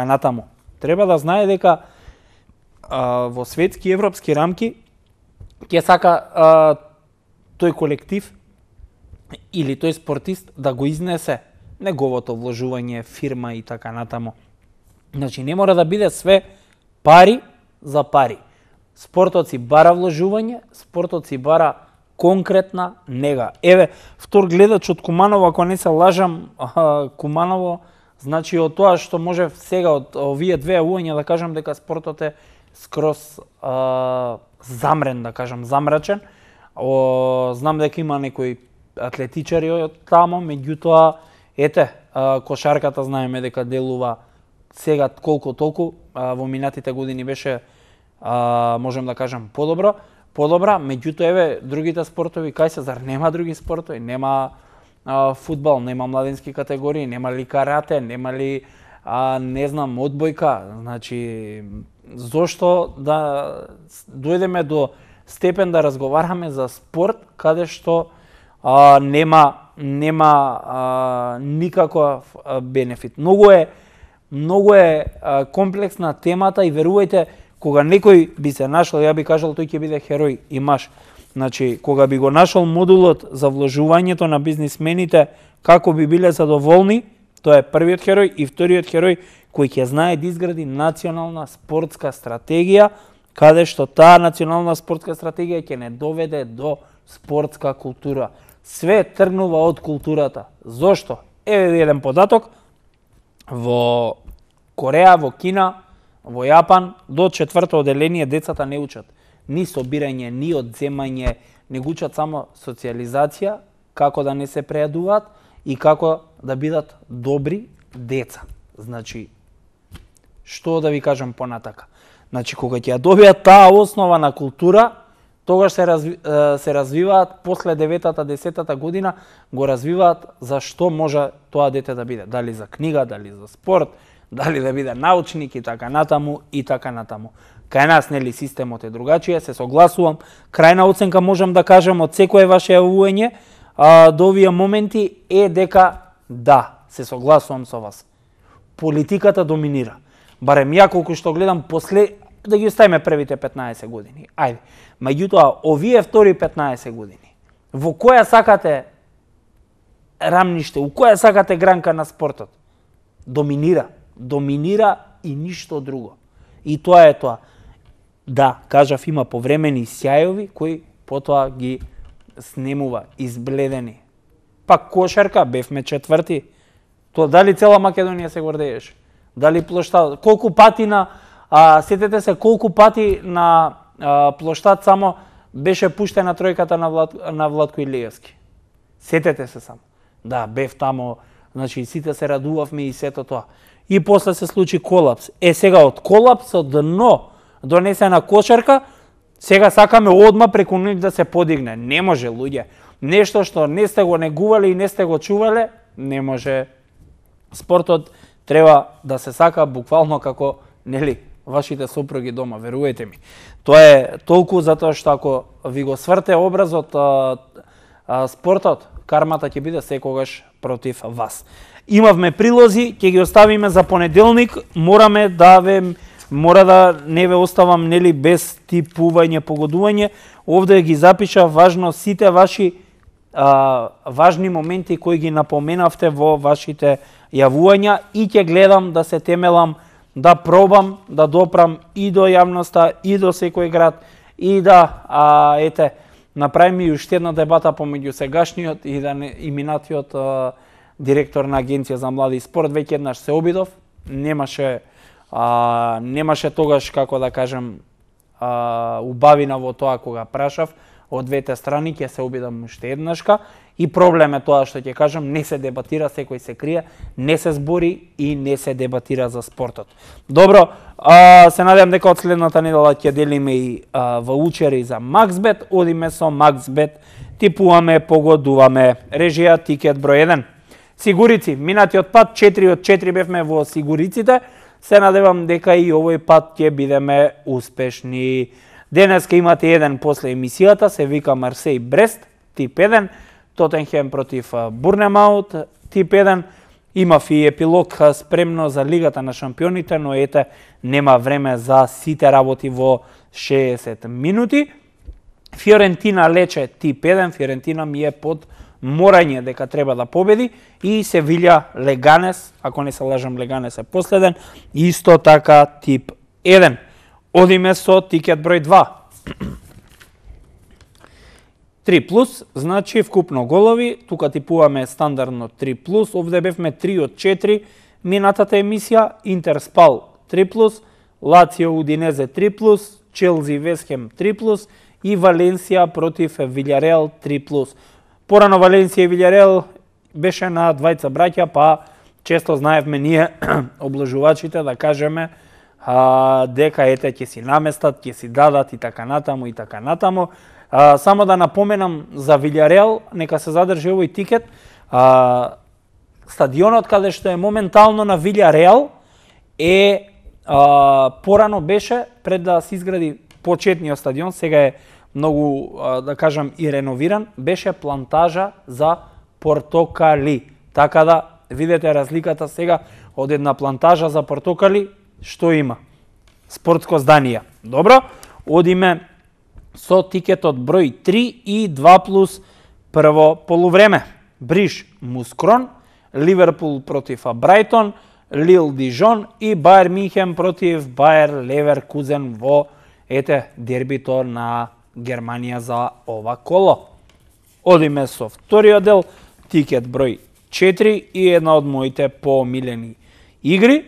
натаму, треба да знае дека во светски и европски рамки ќе сака тој колектив или тој спортист да го изнесе неговото вложување, фирма и така натаму. Значи не мора да биде све пари за пари. Спортот си бара вложување, спортот си бара конкретна нега. Еве, втор гледач од Куманово, ако не се лажам, Куманово, значи од тоа што може сега од овие две јавувања да кажам дека спортот е скроз замрен, да кажам, замрачен. Знам дека има некои атлетичари од тамо, меѓутоа, ете, кошарката знаеме дека делува сега колку толку, во минатите години беше, можем да кажам, подобра, меѓутоа, еве, другите спортови, кај се, зар нема други спортови? Нема фудбал, нема младински категории, нема ли карате, нема ли, не знам, одбојка, значи, зошто да дојдеме до степен да разговараме за спорт каде што нема никаков бенефит. Многу е комплексна темата и верувајте, кога некој би се нашол, ја би кажал тој ќе биде херој и маш. Значи, кога би го нашол модулот за вложувањето на бизнисмените, како би биле задоволни, тоа е првиот херој и вториот херој кој ќе знае да изгради национална спортска стратегија, каде што таа национална спортска стратегија ќе не доведе до спортска култура. Све тргнува од културата. Зошто? Еве еден податок. Во Кореја, во Кина, во Јапан, до 4-то оделение децата не учат ни собирање, ни одземање, не го учат само социализација, како да не се прејадуваат и како да бидат добри деца. Значи, што да ви кажам понатака? Значи, кога ќе ја добијат таа основа на култура, тогаш се развиваат после 9-та, 10-та година, го развиваат за што може тоа дете да биде. Дали за книга, дали за спорт, дали да биде научник и така натаму и така натаму. Кај нас, нели, системот е другачија, се согласувам. Крајна оценка можам да кажам од секое ваше јавување до овие моменти е дека да, се согласувам со вас. политиката доминира. Барем ја колку што гледам да ги оставиме првите 15 години. Ајде. Меѓутоа, овие втори 15 години, во која сакате рамниште, у која сакате гранка на спортот, доминира и ништо друго. И тоа е тоа. Да, кажав, има повремени сјајови кои потоа ги снемува, избледени. Пак кошарка, бевме четврти. Тоа дали цела Македонија се гордееше? Дали плоштад? Колку пати сетете се колку пати на плоштад само беше пуштена тројката на Владко Илиевски. Сетете се само. Да, бев тамо, значи сите се радувавме и сето тоа. И после се случи колапс. Сега од колапсот дно донесена кошарка, сега сакаме одма преку нив да се подигне. Не може, луѓе. Нешто што не сте го негувале и не сте го чувале, не може. Спортот треба да се сака буквално како, нели, вашите сопруги дома, веруете ми. Тоа е толку затоа што ако ви го сврте образот спортот, кармата ќе биде секогаш против вас. Имавме прилози, ќе ги оставиме за понеделник, мора да не ве оставам, нели, без типување, погодување. Овде ги запишав важно сите ваши важни моменти кои ги напоменавте во вашите јавувања и ќе гледам да се темелам, да пробам да допрам и до јавноста, и до секој град, и да направиме и уште една дебата помеѓу сегашниот и минатиот директор на Агенција за млади и спорт. Веќе еднаш се обидов, немаше тогаш, како да кажем, убавина во тоа кога прашав од двете страни, ќе се обидам уште еднашка. И проблем е тоа што ќе кажам, не се дебатира, секој се крие, не се збори и не се дебатира за спортот. Добро, се надевам дека од следната недела ќе делиме и ваучери за Максбет. Одиме со Максбет, типуваме, погодуваме. Режија, тикет број 1. Сигурици, минатиот пат 4 од 4 бевме во сигуриците. Се надевам дека и овој пат ќе бидеме успешни. Денеска имате еден после емисијата, се вика Марсеј Брест, тип 1, Тотенхем против Бурнемаут, тип 1. Имав и епилог спремно за Лигата на шампионите, но нема време за сите работи во 60 минути. Фиорентина Лече, тип 1, Фиорентина ми е под морање дека треба да победи, и Севилја Леганес, ако не се лажам, Леганес е последен, исто така тип 1. Одиме со тикет број 2. 3+, значи вкупно голови, тука типуваме стандардно 3+, овде бевме 3 од 4 минатата емисија, Интер Спал 3+, Лацио Удинезе 3+, Челзи Весхем 3+, и Валенсија против Вилјареал 3+. Порано Валенсија и Вилјареал беше на двајца браќа, па често знаевме ние облажувачите да кажеме дека ќе си наместат, ќе си дадат и така натаму. Само да напоменам за Вилјареал, нека се задржи овој тикет. Стадионот каде што е моментално на Вилјареал порано беше, пред да се изгради почетниот стадион, сега е многу, да кажам, и реновиран, беше плантажа за портокали. Така да видите разликата сега од една плантажа за портокали, што има? Спортско здание. Добро, одиме со тикетот број 3 и 2+ прво полувреме. Бриж Мускрон, Ливерпул против Брајтон, Лил Дижон и Баер Минхен против Баер Леверкузен во дербито на Германија за ова коло. Одиме со вториот дел, тикет број 4 и една од моите поомилени игри.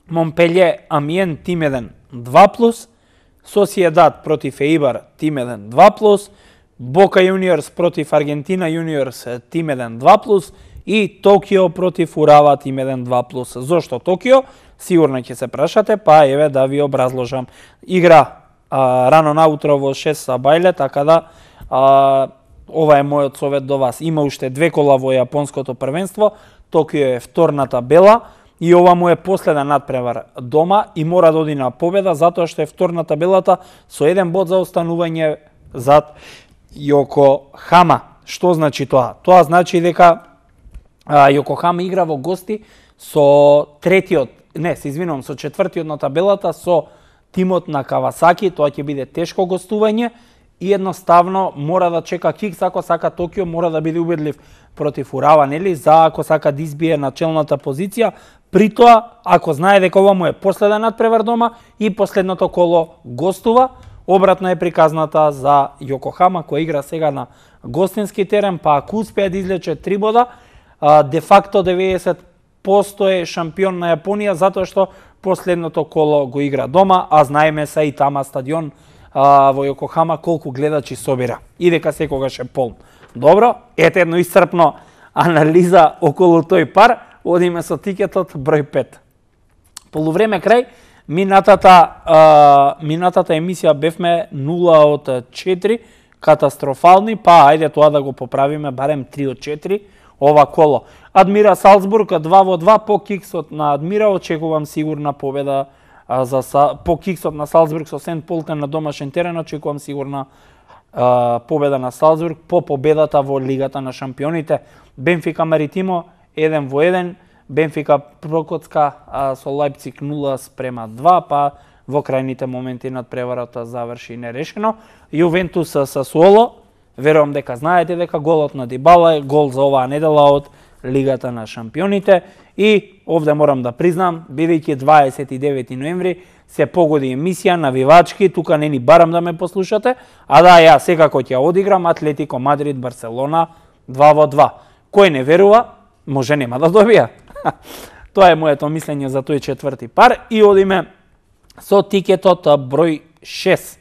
Монпелје Амиен тим 1 2+, Сосиедад против Еибар тим 1 2+, Бока Јуниорс против Аргентина Јуниорс тим 1 2+, и Токио против Урава тим 1 2+. Зошто Токио? Сигурно ќе се прашате, па еве да ви образложам. Игра рано наутро во 6 са бајле, така да ова е мојот совет до вас. Има уште 2 кола во јапонското првенство, Токио е втор на табела и ова му е последен надпревар дома и мора да оди на победа, затоа што е втор на табелата со 1 бод за останување зад Јокохама. Што значи тоа? Тоа значи дека Јокохама игра во гости со третиот, не, се извинувам, со четвртиот на табелата, со тимот на Кавасаки, тоа ќе биде тешко гостување и едноставно мора да чека Кикс, ако сака Токио, мора да биде убедлив против Урава, нели, за ако сака да избие начелната позиција, при тоа, ако знае дека ова му е последен надпревар дома и последното коло гостува, обратно е приказната за Јокохама, која игра сега на гостински терен, па ако успее да излече 3 бода, де факто 90% е шампион на Јапонија, затоа што последното коло го игра дома, а знаеме се и тама стадион во Јокохама колку гледачи собира и дека секогаш е полн. Добро, ете едно исцрпно анализа околу тој пар, одиме со тикетот број 5. Полувреме крај, минатата емисија бевме 0 од 4, катастрофални, па ајде тоа да го поправиме барем 3 од 4 ова коло. Адмира Салцбург 2-2 по киксот на Адмира, очекувам сигурна победа по киксот на Салцбург со Сент Полтен на домашен терен, очекувам сигурна победа на Салцбург по победата во Лигата на шампионите. Бенфика Маритимо 1-1, Бенфика прокоцка со Лајпциг 0-2, па во крајните моменти надпреварата заврши нерешено. Јувентус Сасуоло, верувам дека знаете дека голот на Дибала е гол за оваа недела од Лигата на шампионите и овде морам да признам, бидејќи 29 ноември се погоди емисија навивачки, тука не ни барам да ме послушате, а да ја секако ќе одиграм Атлетико Мадрид Барселона 2-2. Кој не верува, може нема да добија. Тоа е моето мислење за тој четврти пар и одиме со тикетот број 6.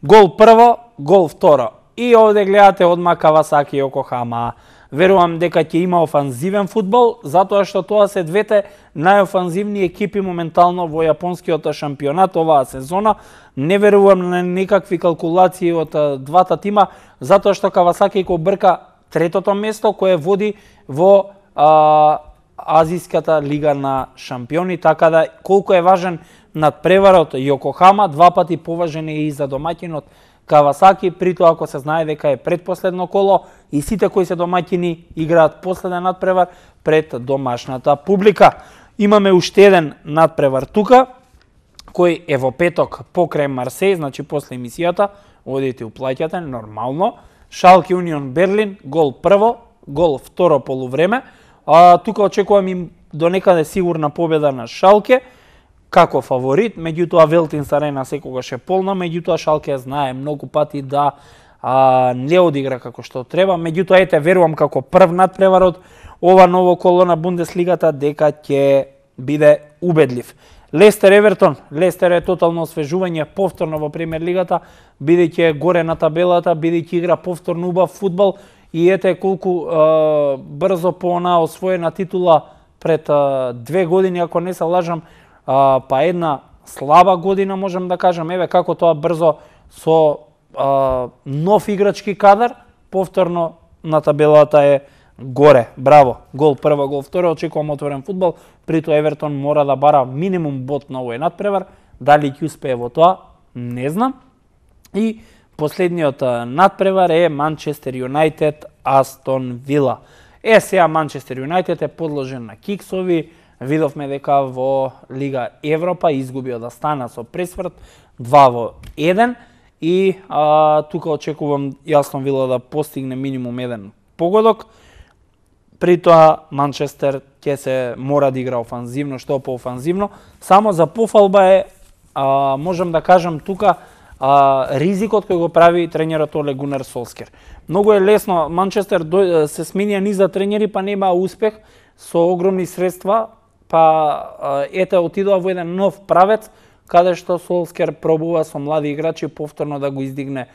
Гол прво, гол второ. И овде гледате одма Кавасаки и Јокохама. Верувам дека ќе има офанзивен фудбал, затоа што тоа се двете најофанзивни екипи моментално во јапонскиот шампионат оваа сезона. Не верувам на никакви калкулации од двата тима, затоа што Кавасаки го брка третото место кое води во Азиската лига на шампиони, така да колку е важен надпреварот Јокохама, два пати поважен е и за домаќинот Кавасаки, при тоа ако се знае дека е предпоследно коло и сите кои се домаќини играат последен надпревар пред домашната публика. Имаме уште еден надпревар тука, кој е во петок покрај Марсеј, значи после емисијата, одите уплаќате нормално. Шалке Унион Берлин, гол прво, гол второ полувреме. Тука очекувам им до некаде сигурна победа на Шалке, како фаворит, меѓутоа Велтинс арена секогаш е полна, меѓутоа Шалке знае многу пати да не одигра како што треба, меѓутоа ете верувам како прв надпреварот ова ново коло на Бундеслигата дека ќе биде убедлив. Лестер Евертон, Лестер е тотално освежување повторно во премиер лигата, бидејќи е горе на табелата, бидејќи игра повторно убав фудбал и ете колку брзо по она освоена титула пред 2 години, ако не се лажам, па една слаба година можам да кажам, еве како тоа брзо со нов играчки кадар, повторно на табелата е горе. Браво, гол прво, гол второ, очекувам отворен фудбал, при тоа Евертон мора да бара минимум бод на овој надпревар, дали ќе успее во тоа, не знам. И последниот надпревар е Манчестер Юнајтед Астон Вила. Сега Манчестер Юнајтед е подложен на киксови, видовме дека во Лига Европа изгуби од Астана со пресврт 2-1 и тука очекувам Астон Вила да постигне минимум еден погодок. При тоа Манчестер ќе се мора да игра офанзивно, што поофанзивно. Само за пофалба е, можам да кажам тука, ризикот кој го прави тренерот Оле Гунар Солскер. Многу е лесно, Манчестер се сменија низа тренери, па нема успех со огромни средства, па ете отидоа во еден нов правец, каде што Солскер пробува со млади играчи повторно да го издигне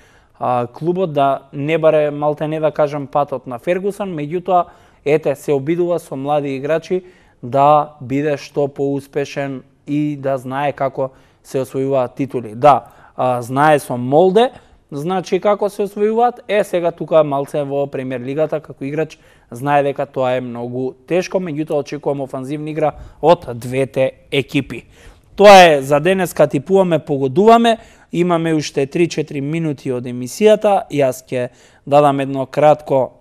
клубот, да не баре малтене да кажам патот на Фергусон, меѓутоа ете се обидува со млади играчи да биде што поуспешен и да знае како се освојуваат титули. Да, знае со Молде, значи како се освојуваат, сега тука малце во премиер лигата како играч знае дека тоа е многу тешко, меѓутоа очекувам офанзивна игра од двете екипи. Тоа е за денеска, типуваме, погодуваме, имаме уште 3-4 минути од емисијата, јас ќе дадам едно кратко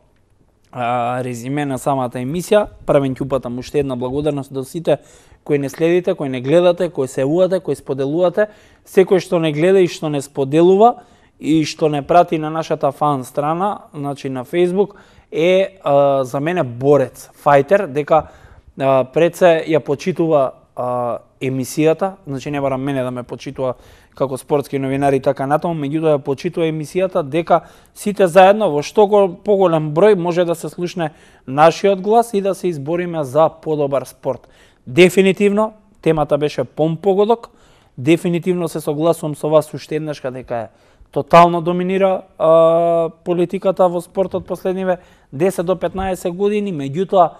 резиме на самата емисија. Правен ќе упатам уште една благодарност до сите кои не следите, кои не гледате, кои се уате, кои споделувате. Секој што не гледа и што не споделува и што не прати на нашата фан страна, значи на Facebook, е за мене борец, фајтер, дека пред се ја почитува емисијата, значи не барам мене да ме почитува како спортски новинари и така натаму, меѓутоа ја почитува емисијата дека сите заедно во што поголем број може да се слушне нашиот глас и да се избориме за подобар спорт. Дефинитивно, темата беше погодок, дефинитивно се согласувам со вас уште еднаш дека е тотално доминира политиката во спортот последниве 10 до 15 години, меѓутоа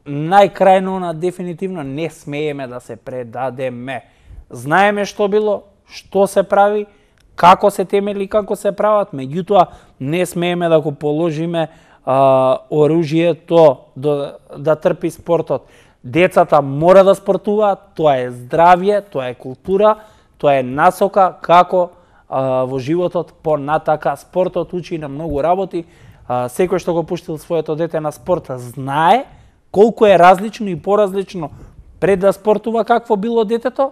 најкрајно на дефинитивно не смееме да се предадеме. Знаеме што било, што се прави, како се темели, како се прават, меѓутоа не смееме да го положиме оружјето да трпи спортот. Децата мора да спортуваат, тоа е здравје, тоа е култура, тоа е насока како во животот понатака. Спортот учи на многу работи. Секој што го пуштил своето дете на спорт знае колку е различно и поразлично пред да спортува какво било детето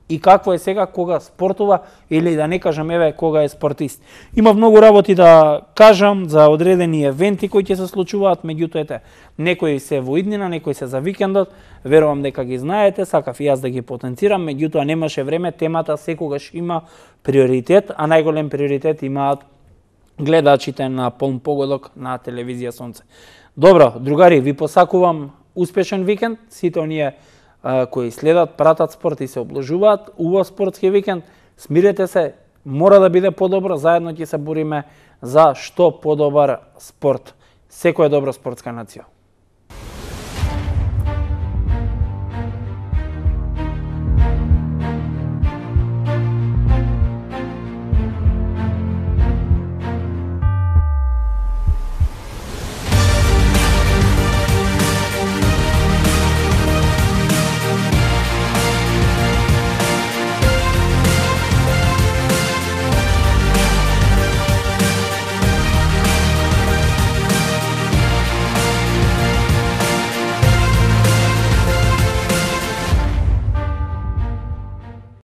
и какво е сега кога спортува или да не кажам еве кога е спортист. Има многу работи да кажам за одредени евенти кои ќе се случуваат, меѓутоа некои се во иднина, некои се за викендот, верувам дека ги знаете, сакав и јас да ги потенцирам, меѓутоа немаше време, темата секогаш има приоритет, а најголем приоритет имаат гледачите на Полн погодок на телевизија Сонце. Добро, другари, ви посакувам успешен викенд, сите оние кои следат, пратат спорт и се обложуваат, убав спортски викенд, смирете се, мора да биде подобро, заедно ќе се бориме за што подобар спорт. Секоја добра спортска нација.